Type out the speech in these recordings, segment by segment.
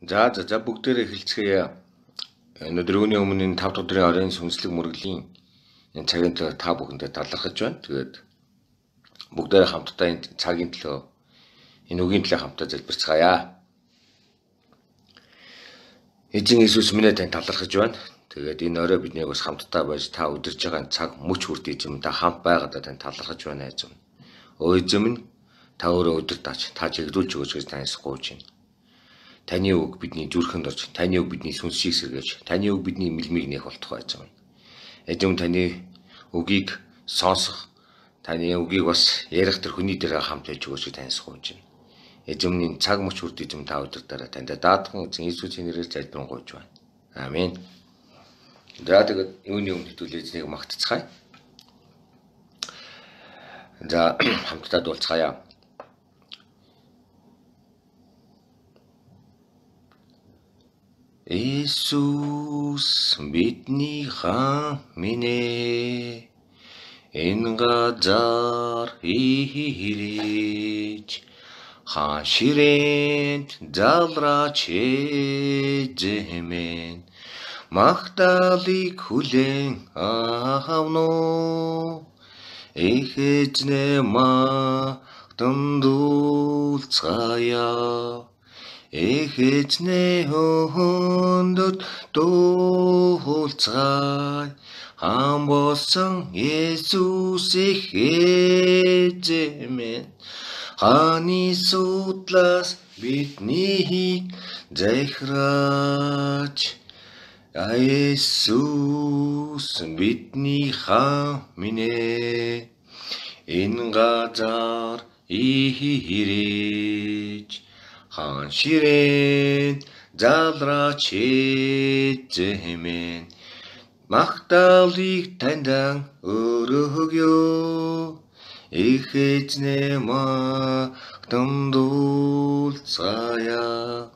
За бүгдээрээ эхэлцгээе. Өнөөдөр үүний өмнө 5 дахь өдрийн оройн сүнслэг мөргөлийн энэ цагийн төлөө та бүхэндээ талархаж байна. Тэгээд бүгдээрээ хамтдаа энэ цагийн төлөө энэ үгийн төлөө хамтдаа залбирцгаая. Эзэн Иесус минь тань талархаж байна. Тэгээд энэ орой биднийг бас хамтдаа байж та удирж байгаа цаг мөч хүрт эзэм та хамт байгаадаа тань талархаж байна эзэм. Өө эзэм минь та өөрөө удирдаач, та чиглүүлж өгөөч гэж таньс гуйж байна. Таны үг бидний зүрхэнд орж, таны үг бидний сүнсийг сэргээж, таны үг бидний мэлмиг нээх болтугай эзэм. Эзэм таны үгийг сонсох, таны үгийг бас ярих тэр хүний дээр хамт байж өгөөч таньс гуйж байна. Эзэмний цаг мөч хүрт эзэм та удирдаарай. Танд даатхан эзэн Иесусийн нэрээр залбирanгуйж байна. Амен. За тэгээд юуны өмнө хэдүүл эзнийг магтцгаая. За хамтдаа дуулцгаая. Иесус бидний хаан минь энэ газар ирэж хаан ширээнд залраач эзэмэн магтаалыг хүлээн авно их эзнээ магтандуулцгаая их эзнээ хөндөд дуулцгаая хаан болсон Иесус их эзэмэн хааны судлаас биднийг захираач Иесус бидний хаан минь энэ газар ирэж хаан ширээнд залраач эзэмэн магтаалыг таньдан өргөё их эзнээ магтандуулцгаая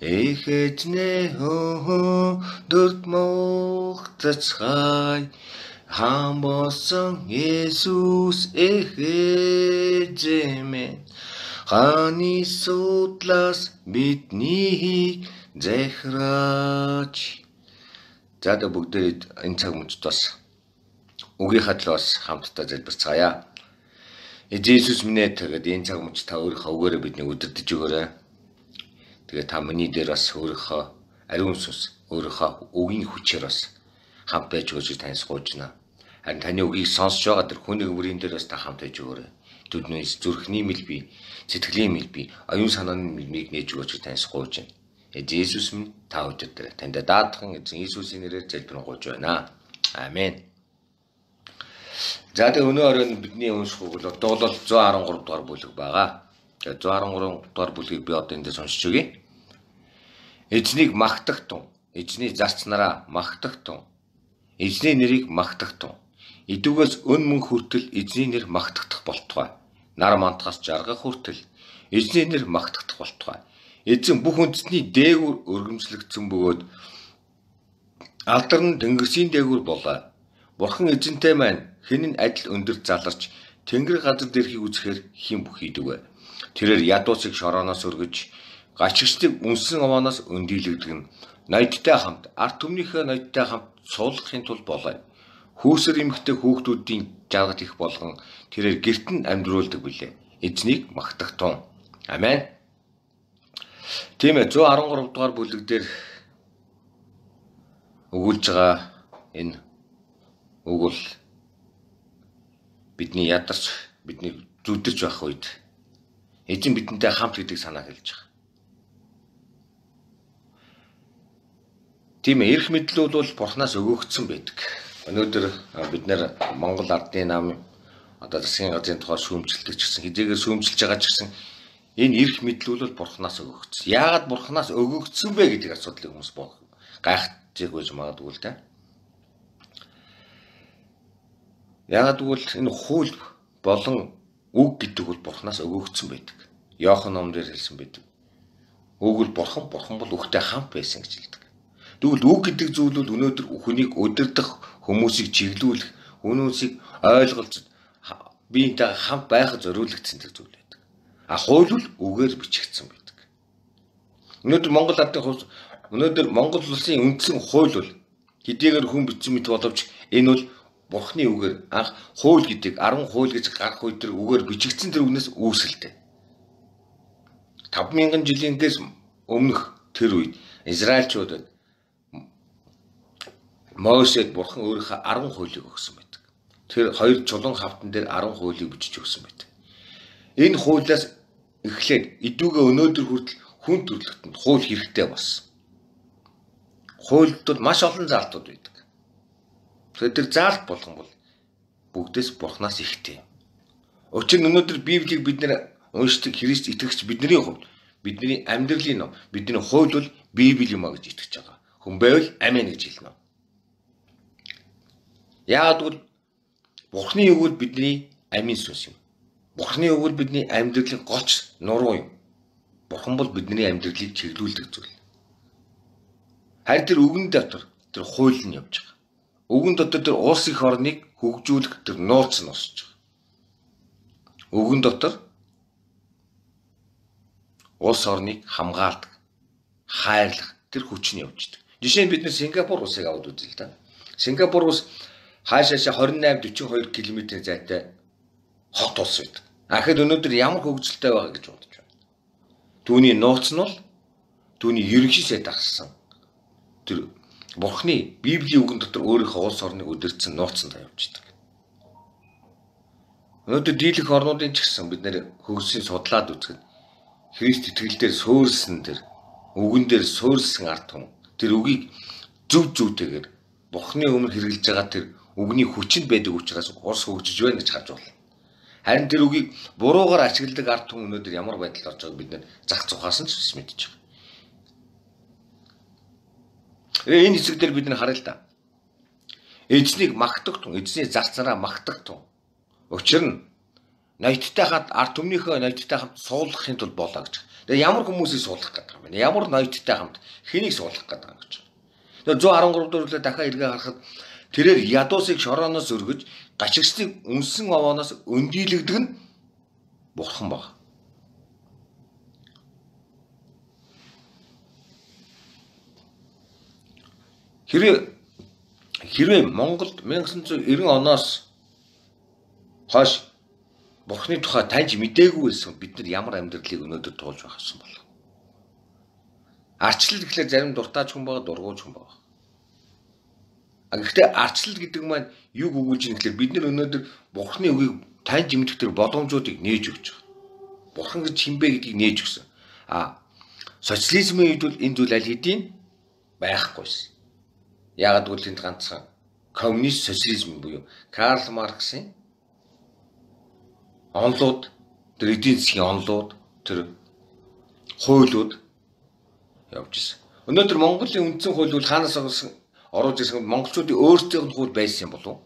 их эзнээ хөндөд магтацгаая хаан болсон Иесус их эзэмэн хааны судлаас биднийг захираач. За бүгдээ энэ цаг мөчид бас үгийнхаа төлөө бас хамтдаа залбирцгаая. Эзэн Иесус минь тэгээд энэ цаг мөчид та өөрийнхөө үгээрээ биднийг удирдах өгөөрэй. Тэгээд та миний дээр бас өөрийнхөө ариун сүнс, өөрийнхөө үгийн хүчээр бас хамт байж өгөөч таньс гуйж байна. Харин таны үгийг сонсож байгаа тэр хүний өврийн дээр бас та хамт байж өгөөрэй. Түдний зүрхний мэлбий, сэтгэлийн мэлбий, оюун санааны мэлбийг нээж өгөөч таньс гуйж байна. Эзэн Иесус минь та удирдаарай. Танд даатхан эзэн Иесусийн нэрээр залбирanгуйж байна. Амен. За тэгээ өнөө оройн бидний унших үг бол дуулал 113 дугаар бүлэг байгаа. Тэгээ 113 дугаар бүлгийг би одоо эндээс уншиж өгье. Эзнийг магтах тун, эзний зарцнараа магтах тун, эзний нэрийг магтах тун. Идүүгээс өн мөн хүртэл эзний нэр магтагдах болтугай. Нар мантахаас жаргах хүртэл эзний нэр магтагдах болтугай. Эзэн бүх үндэстний дээгүүр өргөмжлөгдсөн бөгөөд алдар нь тэнгэрсийн дээгүүр болоо. Бурхан эзэнтэй маань хэн нь адил өндөр заларч тэнгэр газар дээрхийг үзэхээр хэн бүх хийдэг вэ? Тэрээр ядуусыг шорооноос өргөж, гачигчдыг үнсэн овооноос өндийлэгдгэн, ноёдтой хамт, ард түмнийхээ ноёдтой хамт суулгахын тулд болоо. Хүүсэр эмэгтэй хүүхдүүдийн жаргал их болгон тэрээр гэрт нь амьдруулдаг билээ. Эзнийг магтах тун. Амен. Тийм ээ 113 дугаар бүлэг дээр өгүүлж байгаа энэ үг бол бидний ядарч бидний зүдэрч байх үед эзэн бидэнтэй хамт гэдэг санаа хэлж байгаа. Тийм ээ эрх мэдэл бол Бурханаас өгөгдсөн байдаг. Өнөөдөр бид нэр Монгол Ардын нам одоо засгийн газрын тухай шүүмжилдэг ч гэсэн хизээгээр шүүмжилж байгаа ч гэсэн энэ эрх мэдэл бол Бурханаас өгөгдсөн. Яагаад Бурханаас өгөгдсөн бэ гэдэг асуудлыг хүмүүс гайхаж байж магадгүй л да. Яагаад гэвэл энэ хууль болон үг гэдэг бол Бурханаас өгөгдсөн байдаг. Иохан номдэр хэлсэн байдаг. Үг бол Бурхан бол үгтэй хамт байсан гэж хэлдэг. Тэгвэл үг гэдэг зүйл бол өнөөдөр хүнийг удирдах, хүмүүсийг чиглүүлэх, хүмүүсийг ойлголж биентэй хамт байхад зориулагдсан зүйл байдаг. А хууль бол үгээр бичигдсэн байдаг. Өнөөдөр Монгол ардын хувьд өнөөдөр Монгол улсын үндсэн хууль бол хэдийгээр хүн бичсэн мэт боловч энэ бол Бурхны үгээр анх хууль гэдэг 10 хууль гэж гарах үед тэр үгээр бичигдсэн тэр үгнээс үүсэлтэй. 5000 жилийнхээс өмнөх тэр үед Израильчуудад Мосед Бурхан өөрийнхөө 10 хуулийг өгсөн байдаг. Тэр хоёр чулуун хавтан дээр 10 хуулийг бичиж өгсөн байдаг. Энэ хуулиас эхлээд идүүгээ өнөөдөр хүртэл хүн төрөлхтөнд хууль хэрэгтэй болсон. Хуульд бол маш олон заалтууд байдаг. Тэгэхээр тэр заалт болгон бол бүгдээс Бурханаас ихтэй. Учир нь өнөөдөр Библийг бид нэр уншдаг Христ итгэгч бидний хувьд бидний амьдралын ном, бидний хууль бол Библи юм а гэж итгэж байгаа. Хүн байвал амин гэж хэлнэ. Яагаад гэвэл Бурхны үг бол бидний амин сүнс юм. Бурхны үг бол бидний амьдралын гоч нуруу юм. Бурхан бол бидний амьдралыг чиглүүлдэг зүйл. Харин тэр үгэн дотор тэр хууль нь явж байгаа. Үгэн дотор тэр улс их орныг хөгжүүлэх тэр нууц нь босч байгаа. Үгэн дотор улс орныг хамгаалдаг, хайрлах тэр хүч нь явж байгаа. Жишээ нь бид нэр Сингапур улсыг аваад үзье л да. Сингапур улс хаашаашаа 28-42 км зайтай хот улс байдаг. Ахад өнөөдөр ямар хөгжилтэй байгаа гэж бодож байна. Түүний нууц нь бол түүний ерөнхий сайд ахсан. Тэр Бурхны Библийн үгэн дотор өөрийнхөө улс орныг өдөрцөн нууцанд явж байгаа. Өнөөдөр дийлэх орнуудын ч гэсэн бид нэр хөгжлийн судлаад үзэхэд Христ итгэлээр суурьсан тэр үгэн дээр суурьсан ард түмэн тэр үгийг зөвтэйгээр Бурхны өмнө хэрэгжилж байгаа тэр үгний хүчинд байдаг учраас улс хөгжиж байна гэж харж байна. Харин тэр үгийг буруугаар ашигладаг ард түмэн өнөөдөр ямар байдалд орж байгааг бид нэр зах зугаас нь ч мэдэж байгаа. Энэ хэсэгдэр бид нар харъя л да. Эзнийг магтах тун, эзний зар зараа магтах тун. Учир нь ноёдтой хад ард түмнийхөө ноёдтой хамт суулгахын тулд болоо гэж. Тэгээ ямар хүмүүсийг суулгах гэдэг юм бэ? Ямар ноёдтой хамт хэнийг суулгах гэдэг юм гэж. Тэгээ 113 дөрөвлөө дахиад эргээ харахад тэрээр ядуусыг шорооноос өргөж, гачигчдыг үнсэн овооноос өндийлэгдэг нь Бурхан баг. Хэрвээ Монголд 1990 оноос хойш Бурхны тухай таньж мэдээгүй байсан бид нар ямар амьдралыг өнөөдөр туулж байхсан бол. Арчлал гэхлээр зарим дуртааж хүн байгаа, дургуйж хүн байгаа. Гэхдээ арчлал гэдэг маань юг өгүүлж ийм гэхлээр бид нар өнөөдөр Бурхны үгийг таньж мэдэх тэр боломжуудыг нээж өгч байгаа. Бурхан гэж хинбэ гэдгийг нээж өгсөн. Социализмын үед бол энэ зүйл аль хэдийн байхгүйсэн. Яагаад гэвэл энд ганцхан коммунист социализм буюу Карл Марксийн онлууд, тэр эдийн засгийн онлууд, тэр хуулиуд явж ирсэн. Өнөөдөр Монголын үндсэн хууль бол хаанаас оруулж ирсэн монголчуудын өөрсдийнх нь хууль байсан юм болов уу?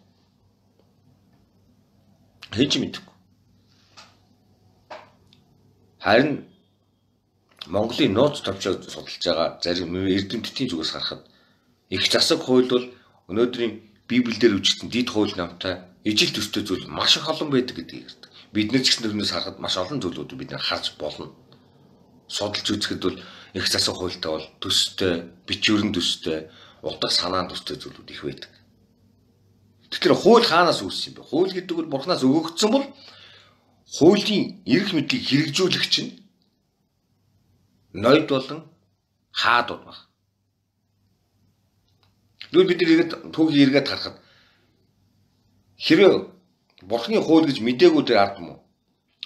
Хэн ч мэдэхгүй. Харин Монголын нууц товчоо судалж байгаа зарим эрдэмтдийн зүгээс харахад их засаг хууль бол өнөөдрийн Библиэлд үжигдсэн дид хууль намтай ижил төстэй зүйл маш их олон байдаг гэдгийг ярьдаг. Бид нар ч гэсэн тэрнээс харахад маш олон зүйлүүд бид нар харж болно. Судалж үзэхэд бол их засаг хуультай бол төстэй, бичвэрэн төстэй, утга санаан төстэй зүйлүүд их байдаг. Тэгэхээр хууль хаанаас үүссэн юм бэ? Хууль гэдэг бол Бурханаас өгөгдсөн бол хуулийн эрх мэдлийг хэрэгжүүлэх чинь ноёд болон хаадууд баг. Тэгвэл бид нэгээд түүхийг эргээд харахад хэрэг Бурхны хууль гэж мдээгүй тэр ард түмэн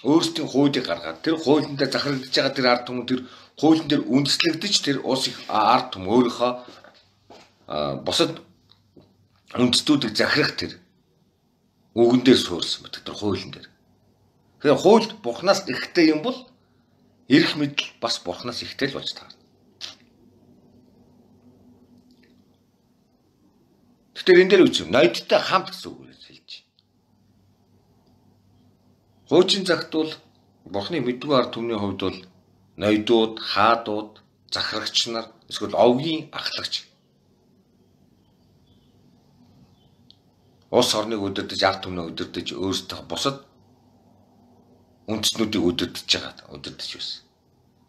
өөрсдийн хуулийг гаргаад тэр хуулиндаа захирагдж байгаа тэр ард түмэн тэр хуулийн дээр үндэслэгдэж тэр улс их ард түмэн өөрийнхөө бусад үндэстүүдийг захирах тэр үгэн дээр суурсан мэт тэр хуулийн дээр. Тэгэхээр хууль Бурханаас ихтэй юм бол эрх мэдэл бас Бурханаас ихтэй л болж таарна. Тэгэхээр энэ дээр үгүй юм. Ноёдтой хамт гэсэн үг хэлж байна. Хуучин цагт бол Бурхны мэдгүй ард түмний хувьд бол ноёдууд, хаадууд, захирагч нар эсвэл овгийн ахлагч улс орныг өдөрдөж, ард түмнийг өдөрдөж өөрсдөө бусад үндэстнүүдийг өдөрдөж байсан.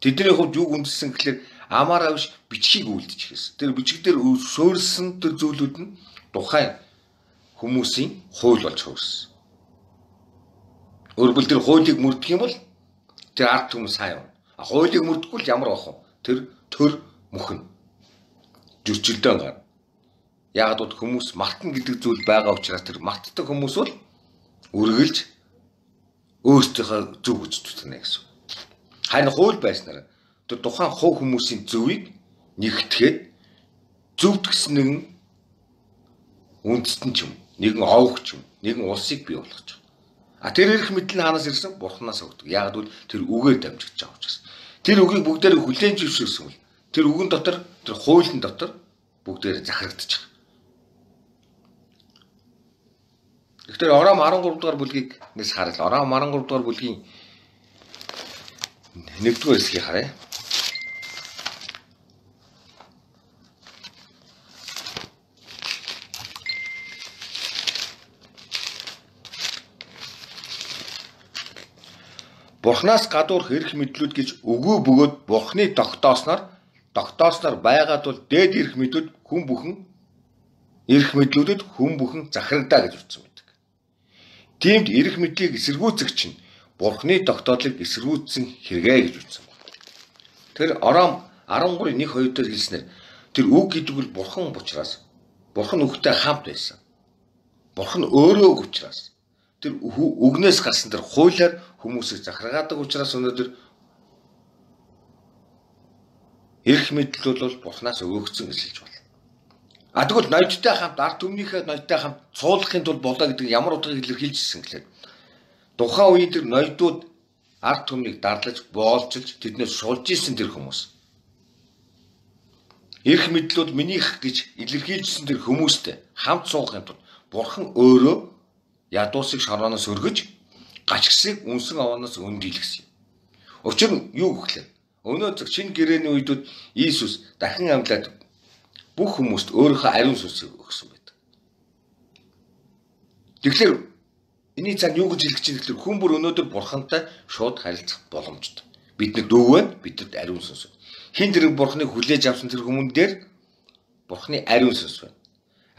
Тэдний хувьд юг үндэссэн гэхэлэр амаараа биш бичгийг үлдэж хэлсэн. Тэр бичиг дээр суурилсан тэр зүйлүүд нь тухайн хүмүүсийн хууль болж хувирсан. Өөрөөр тэр хуулийг мөрдөх юм бол тэр ард түмэн сайн юм. Хуулийг мөрдөхгүй л ямар байх вэ? Тэр төр мөхнө. Зөрчилдөөн гарна. Яг л хүмүүс мартна гэдэг зүйл байгаа учраас тэр мартдаг хүмүүс бол үргэлж өөрсдийнхөө зөв үзэж үзнэ гэсэн. Харин хууль байснаар тэр тухайн хувь хүмүүсийн зөвийг нэгтгэхэд зөвдгсөн нэгэн үндэстэн ч юм, нэгэн овогч юм, нэгэн улсыг бий болгож байгаа. Тэр эрх мэдэл нь хаанаас ирсэн? Бурханаас өгдөг. Яг л тэр үгээр дамжиж байгаа учраас. Тэр үгийг бүгдээр хүлээн зөвшөөрсөн бол тэр үгэн дотор, тэр хуулийн дотор бүгдээр захирагдчих. Тэгэхээр Ором 13 дугаар бүлгийг нэс харъя. Ором 13 дугаар бүлгийн 1-р хэсгийг харъя. Бурханаас гадуурх эрх мэдлүүд гэж өгөө бөгөөд Бурханы тогтоосноор байгаад бол дээд эрх мэдлүүд хүн бүхэн эрх мэдлүүдэд хүн бүхэн захирагдаа гэж утсан байдаг. Тиймд эрх мэдлийг эсэргүүцэх чинь Бурханы тогтоодлыг эсэргүүцсэн хэрэгэ гэж утсан байна. Тэр Ором 13:1-2 дээр хэлснээр тэр үг гэдэг бол Бурхан учраас Бурхан үгтэй хамт байсан. Бурхан өөрөө үг учраас тэр үгнээс гарсан тэр хуулиар хүмүүсийг захиргаадаг учраас өнөөдөр эрх мэдлүүд бол Бурханаас өгөгдсөн гэж хэлж байна. Тэгвэл ноёдтой хамт ард түмнийхээ ноёдтой хамт суулгахын тулд болоо гэдэг ямар утгыг илэрхийлжсэн гэхээр тухайн үеийн тэр ноёдууд ард түмнийг дарлаж, боолчилж тэднээс шулж исэн тэр хүмүүс. Эрх мэдлүүд минийх гэж илэрхийлжсэн тэр хүмүүстэй хамт суугахын тулд Бурхан өөрөө ядуусыг шорооноос өргөж гачгсыг үнсэн овооноос өндийлгэсэн юм. Учир нь юу гэхлээр өнөөдөр шинэ гэрээний үедүүд Иесус дахин амьлаад бүх хүмүүст өөрийнхөө ариун сүнсийг өгсөн байдаг. Тэгэхээр энэний цаана юу гэж хэлэх чинь гэхлээр хүн бүр өнөөдөр Бурхантай шууд харилцах боломжтой. Биднэрт өг байна, бидэд ариун сүнс байна. Хин тэр Бурханыг хүлээж авсан тэр хүмүүн дээр Бурханы ариун сүнс байна.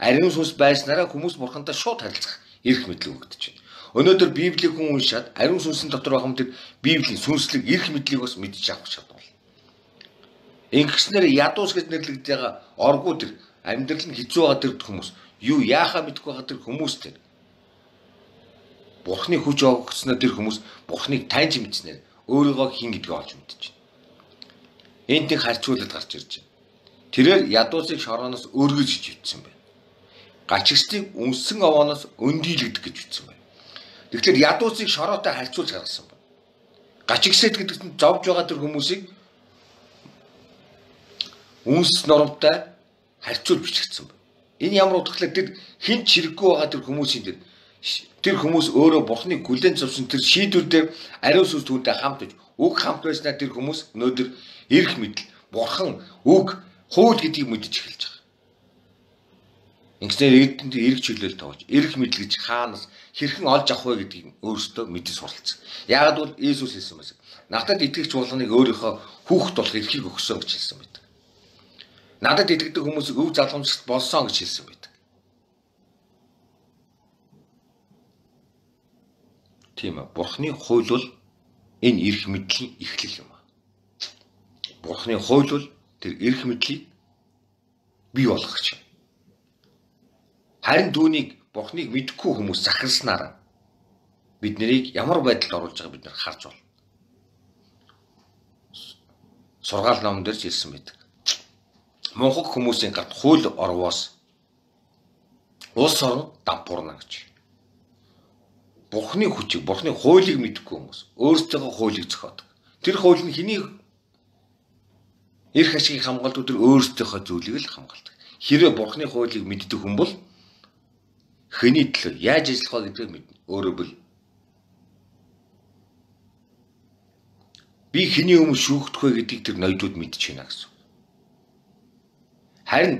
Ариун сүнс байснараа хүмүүс Бурхантай шууд харилцах эрх мэдэл өгдөж байна. Өнөөдөр Библийг хүн уншаад ариун сүнсийн дотор байгаа юм тэр Библийн сүнслэг эрх мэдлийг бас мэдчих авах чадвар. Ингэснээр ядуус гэж нэрлэгдэж байгаа оргуу тэр амьдрал нь хэцүү байгаа тэр хүмүүс юу яахаа мэдэхгүй байгаа тэр хүмүүс тэр Бурханы хүч өгснөөр тэр хүмүүс Бурханыг таньж мэдснээр өөрийгөө хин гэдгийг олж мэдэж байна. Энд нэг харьцуулалт гарч ирж байна. Тэрээр ядуусыг шорооноос өргөж ичсэн байна. Гачигчдыг үнсэн овооноос өндийлгдэг гэж ütсэн байна. Тэгэхээр ядуусыг шороотой харьцуулж гаргасан байна. Гачигсэд гэдэг нь зовж байгаа тэр хүмүүсийг үнс нормтой харьцуулж бичигдсэн байна. Энэ ямар утгатай тэр хинт чирэггүй байгаа тэр хүмүүсийн тэр хүмүүс өөрөө Бурханыг хүлээн зөвшөөрсөн тэр шийдвэр дээр ариун сүнс түүнтэй хамт байж үг хамт байснаар тэр хүмүүс өнөөдөр эрх мэдэл Бурхан үг хууль гэдгийг мэдэж эхэлж байгаа. Ингэснээр эрдэнд эрх чөлөөл тоож, эрх мэдэл гэж хаанаас хэрхэн олж авах вэ гэдгийг өөрсдөө мэдэж суралцсан. Яагаад бол Иесус хэлсэн байсан. Надад итгэгч болгоныг өөрийнхөө хүүхэд болох эрхийг өгсөн гэж хэлсэн байдаг. Надад итгэдэг хүмүүсийг өв залгамжлагт болсон гэж хэлсэн байдаг. Тийм ээ. Бурханы хууль бол энэ эрх мэдлийн эхлэл юм аа. Бурханы хууль бол тэр эрх мэдлийг бий болгох юм. Харин түүнийг Бурханыг мэдхгүй хүмүүс захирснаар бид нарыг ямар байдалд оруулж байгааг бид нар харж байна. Сургаал номон дээр хэлсэн байдаг. Монхог хүмүүсийн гарт хууль орвоос улс орон дампуурна гэж. Бурханы хүчийг, Бурханы хуулийг мэдхгүй хүмүүс өөрсдөө хуулийг зохиодог. Тэр хууль нь хэний эрх ашигыг хамгаалдаг, тэр өөрсдийнхөө зүйлийг л хамгаалдаг. Хэрвээ Бурханы хуулийг мэддэг хүн бол хэний төлөө яаж ажиллах вэ гэдгийг мэднэ. Өөрөөр бил би хэний өмнө шүүгдэх вэ гэдгийг тэр ноёдууд мэдчихэе нэ гэсэн. Харин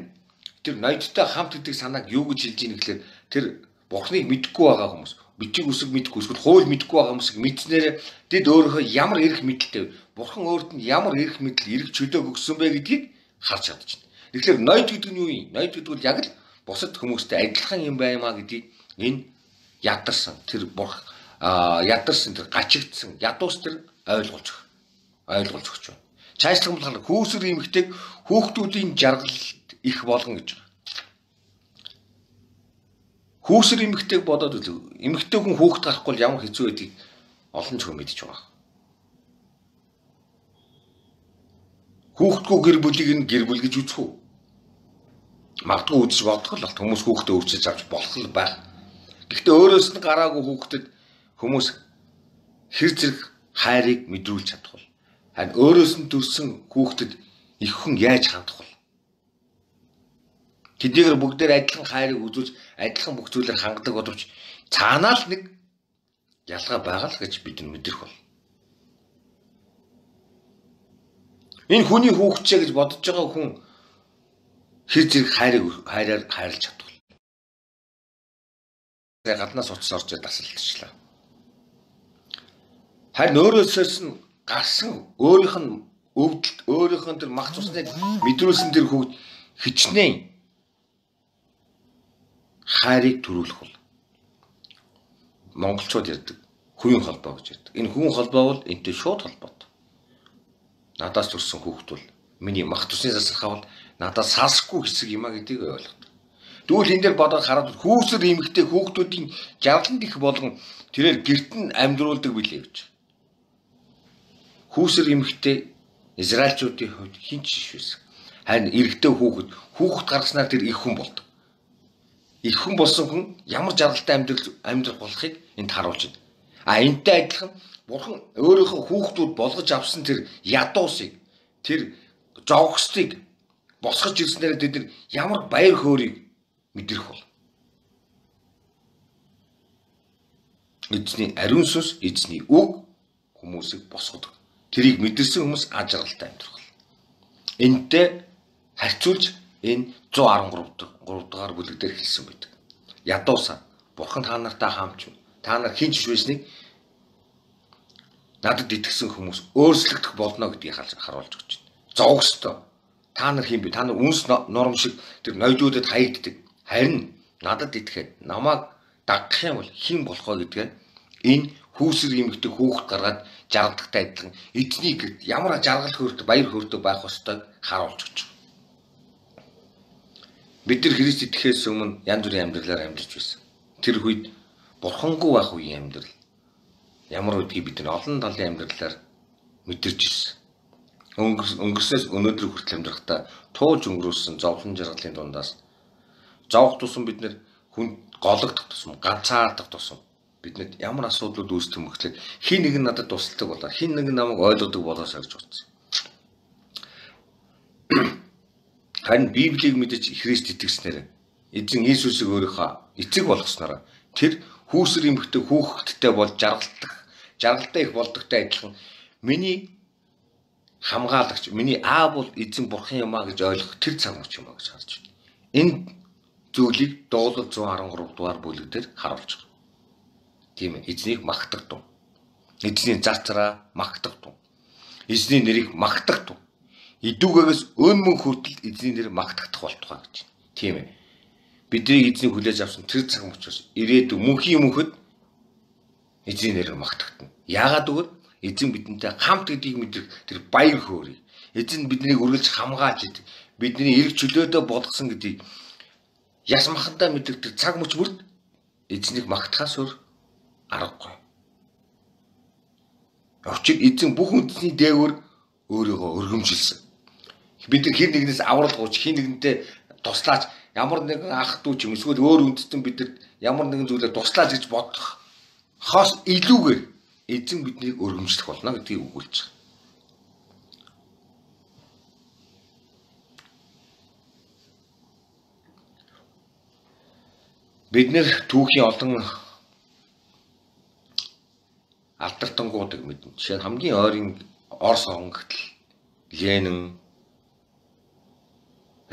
тэр ноёдтой хамт гэдэг санааг юу гэж хэлж ийн гэхээр тэр Бурханыг мэдхгүй байгаа хүмүүс бичиг үсэг мэдгүй эсвэл хууль мэдгүй байгаа хүмүүсийг мэдснээр тэд өөрийнхөө ямар эрх мэдэлтэй бурхан өөрт нь ямар эрх мэдэл эрх чөлөөг өгсөн бэ гэдгийг харж чадчихна. Тэгэхээр ноёд гэдэг нь юу юм? Ноёд гэдэг нь яг л бусад хүмүүстэй адилхан юм баймаа гэдгийг энэ ядарсан тэр ядарсан тэр гачигдсан ядуус тэр ойлгуулж өгч байна. Цаашлах болохоор хүүсэр эмэгтэйг хүүхдүүдийн жаргалт их болгон гэж байна. Хүүсэр эмэгтэйг бодоод үзв. Эмэгтэй хүн хүүхэд гарахгүй ямар хэцүү байдгийг олон ч хүн мэдж байгаа. Хүүхдгүй гэр бүлийг нь гэр бүл гэж үзэх үү? Магадгүй үзэж бодох л хүмүүс хүүхдээ өөрчилж авч болох л байх. Гэхдээ өөрөөс нь гараагүй хүүхдэд хүмүүс хэр зэрэг хайрыг мэдрүүлж чадах вэ? Харин өөрөөс нь төрсэн хүүхдэд их хүн яаж хандах вэ? Тэдгээр бүгдээр адилхан хайрыг үзүүлж адилхан бүх зүйлээр хангадаг боловч цаанаа л нэг ялгаа байгаа л гэж бид мэдрэх бол. Энэ хүний хүүхдчээ гэж бодож байгаа хүн хэр зэрэг хайраар хайрлаж чадах вэ? Гаднаас уцс орж дасалтчлаа. Харин өөрөөсөөс нь гарсан өөрийнх нь өвдөлт өөрийнх нь тэр мах цусныг мэдрүүлсэн тэр хүүхд хичнээн хайрыг төрүүлэх бол монголчууд ярьдаг хувийн холбоо гэж ярьдаг. Энэ хувийн холбоо бол энэтэй шууд холбоотой. Надаас төрсэн хүүхд бол миний мах цусны засалхаа бол надаас салсахгүй хэсэг юм а гэдгийг ойлгодог. Тэгвэл энэ дээр бодоод хараад хүүсэр эмэгтэй хүүхдүүдийн жаргаланд их болгон тэрээр гэрт нь амьдруулдаг билээ гэж. Хүүсэр эмэгтэй израильчуудын хувьд хинч шишвэсэн. Харин эрэгтэй хүүхэд гаргаснаар тэр их хүн болдог. Их хүн болсон хүн ямар жаргалтай амьдрах болохыг энд харуулж байна. Энэтэй адилхан бурхан өөрийнхөө хүүхдүүд болгож авсан тэр ядуусыг тэр зовгостыг босгож ирснээр тэд нар ямар баяр хөөргийг мэдрэх бол. Эзний ариун сүнс, эзний үг хүмүүсийг босгодог. Тэрийг мэдэрсэн хүмүүс аж аргалтай амьдрах бол. Энэтэй харьцуулж энэ 113 дугаар бүлэг дээр хэлсэн байдаг. Ядуусаа бурхан та нартай хамч та нар хинч швэснийг надад итгэсэн хүмүүс өөрчлөгдөх болно гэдгийг харуулж өгч байна. Зовгостой та нар хин бэ? Та нар үнс норм шиг тэр ноёдуудад хаягддаг. Харин надад итгээд намайг дагах юм бол хэн болох вэ гэдгээ энэ хүүсэр эмэгтэй хүүхэд гаргаад жаргалтай адилхан эзний гэрт ямар жаргал хөөртэй баяр хөөртэй байх ёстойг харуулж өгч байна. Бид нар Христ итгэхээс өмнө янз бүрийн амьдралаар амьдарч байсан. Тэр үед бурхангүй байх үеийн амьдрал ямар үдгийг бид нар олон талын амьдралаар мэдэрч ирсэн. Өнгөрснөөс өнөөдөр хүртэл амьдрахдаа туулж өнгөрөөсөн зовлон жаргалын дундаас зовх тусам бид нар хүн гологдох тусам ганцаардах тусам биднэд ямар асуудлууд үүсдэг юм гэхлээр хин нэг нь надад тусалдаг болоо хин нэг нь намайг ойлгодог болоосаа гэж бодсон. Харин Библийг мэдэж Христ итгэснээр эзэн Иесусыг өөрийнхөө эцэг болгосноор тэр хүүсэр эмэгтэй хүүхэдтэй бол жаргалтай их болдогтой адилхан миний хамгаалагч миний аав бол эзэн бурхан юм а гэж ойлгох тэр цаг мөч юм а гэж харж байна. Энэ зүйлийг Дуулал 113 дугаар бүлэг дээр харуулж байгаа. Тийм ээ, эзнийг магтагдав. Эзний зарцараа магтагдав. Эзний нэрийг магтагдав. Идүүгээс өнмөн хүртэл эзний нэр магтагдах болтугай гэж. Тийм ээ. Бидний эзний хүлээж авсан тэр цаг мөчөөс ирээдүйн мөнхийн мөнхөд эзний нэрээр магтагдана. Яагаад гэвэл эзэн бидэнтэй хамт гэдгийг мэдрэх тэр баяр хөөргийг эзэн биднийг үргэлж хамгаалж идэг. Бидний эрг чөлөөдөө болгосон гэдгийг яс махандаа мэддэг тэр цаг мөч бүрд эзнийг магтахаас өөр аргагүй. Учир эзэн бүх үндэсний дээгүүр өөрийгөө өргөмжилсөн. Бид нар хин нэгнээс авралгууч, хин нэгнтэй туслаач, ямар нэгэн ах дүү ч юм эсвэл өөр үндэстэн бидэд ямар нэгэн зүйлээр туслаач гэж бодох хос илүүгээр эзэн биднийг өргөмжлөх болно гэдгийг өгүүлж байгаа. Бид нэр түүхийн олон алдартангуудыг мэднэ. Жишээ нь хамгийн ойрын Орос хонгогдол Ленин,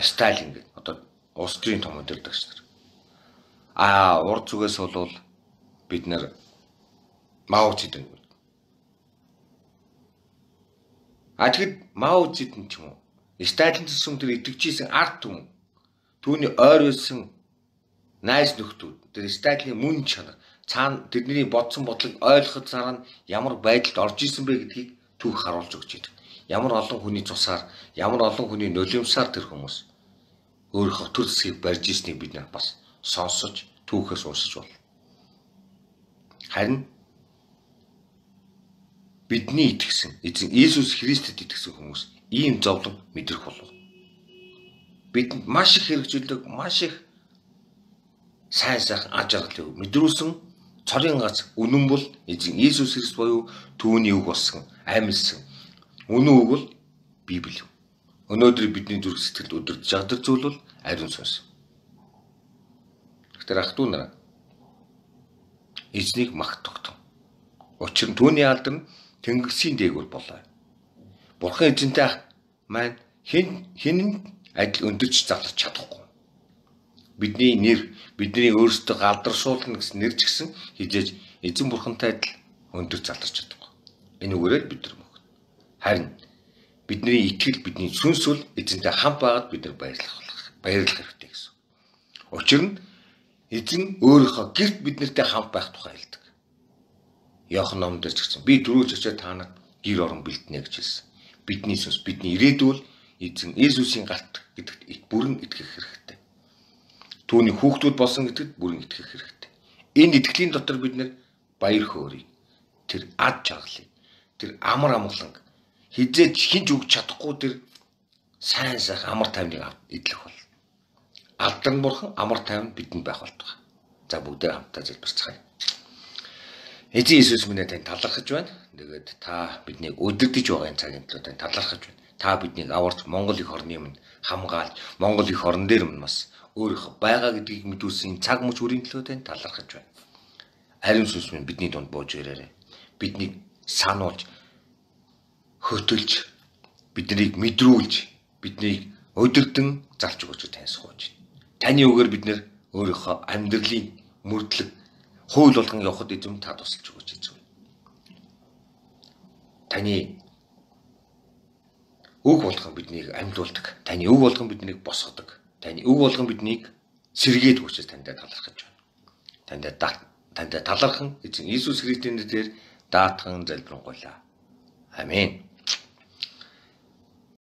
Сталин гэдэг одоо улс төрийн том удирдагч нар. Урд зүгээс бол бид нар Мао Цзэдун. Тэгэд Мао Цзэдун ч юм уу Сталин төсөм тэр итгэжсэн ард түмэн түүний ойр байсан найз нөхдүүд тэр Сталиний мөн чанар цаана тэдний бодсон бодлыг ойлгоход цаана ямар байдалд орж исэн бэ гэдгийг түүх харуулж өгч байдаг. Ямар олон хүний цусаар, ямар олон хүний нулимсаар тэр хүмүүс өөрийнхөө төр зэсгийг барьж ирснийг бид нар бас сонсож түүхээс уншиж байна. Харин бидний итгэсэн эзэн Иесус Христэд итгэсэн хүмүүс ийм зовлон мэдрэх болов. Бидэнд маш их хэрэгжүүлдэг, маш их сайн сайхан аж аргалыг мэдрүүлсэн цорын гац үнэн бол эзэн Иесус Христ буюу түүний үг болсон, амьдсан. Үнэн үг бол Библи. Өнөөдөр бидний зүрх сэтгэлд өдөрж жагадаг зүйл бол ариун сүнс. Тэгэхээр ах トゥ нараа эзнийг магтдаг. Учир нь түүний алдар нь тэнгисийн дээгүүр болоо. Бурхан эзэнтэй маань хэн адил өндөрч зарлах чадахгүй. Бидний нэр, бидний өөрсдөө галдаршуулна гэсэн нэр ч гэсэн хизээж эзэн бурхантай адил өндөрч заларч чадахгүй. Энэ үгээрээ бид нар мөн. Харин бидний итгэл, бидний сүнс бол эзэнтэй хамт байгаад бид нар баярлах хэрэгтэй гэсэн. Учир нь эзэн өөрийнхөө гэрт биднэртэй хамт байх тухай хэлдэг. Иохан номон дээр ч гэсэн би дөрөвж очиад та нарт гэр орон бэлтнэ гэж хэлсэн. Бидний сүнс, бидний ирээдүйн эзэн Иесусийн галт гэдэгт бүрэн итгэх хэрэгтэй. Түүний хүүхдүүд болсон гэдэгт бүрэн итгэх хэрэгтэй. Энэ итгэлийн дотор бид нэр баяр хөөргийг, тэр ад жаргалыг, тэр амар амгаланг хизээч хинж өгч чадахгүй тэр сайн сайхан амар тайвныг эдлэх бол. Алдар нь бурхан, амар тайван бидэнд байх болтугай. За бүгдээ хамтдаа залбирцгаая. Эзэн Иесус минь тань талархаж байна. Тэгээд та биднийг өдөрдөж байгаа цагийн төлөө тань талархаж байна. Та биднийг аварч Монгол их орны минь хамгаалж, Монгол их орн дээр минь бас өөрийнхөө байгаа гэдгийг мэдүүлсэн цаг мөч үрийн төлөө тань талархаж байна. Ариун сүнс минь бидний дунд бууж ирээрэй. Биднийг сануулж, хөтөлж, биднийг мэдрүүлж, биднийг өдөрдөн залж өгөөч тань сууж. Таны үгээр бид нэр өөрийнхөө амьдралын мөрдлөг хууль болгон явахад эзэм та тусалж өгөөч эзэм. Таны үг болгон биднийг амьлуулдаг. Таны үг болгон биднийг босгодог. Таны үг болгон биднийг сэргээд өгч таньд талархаж байна. Таньд талархан эзэн Иесус Христийн нэрээр даатхан залбирanгуйлаа. Амен.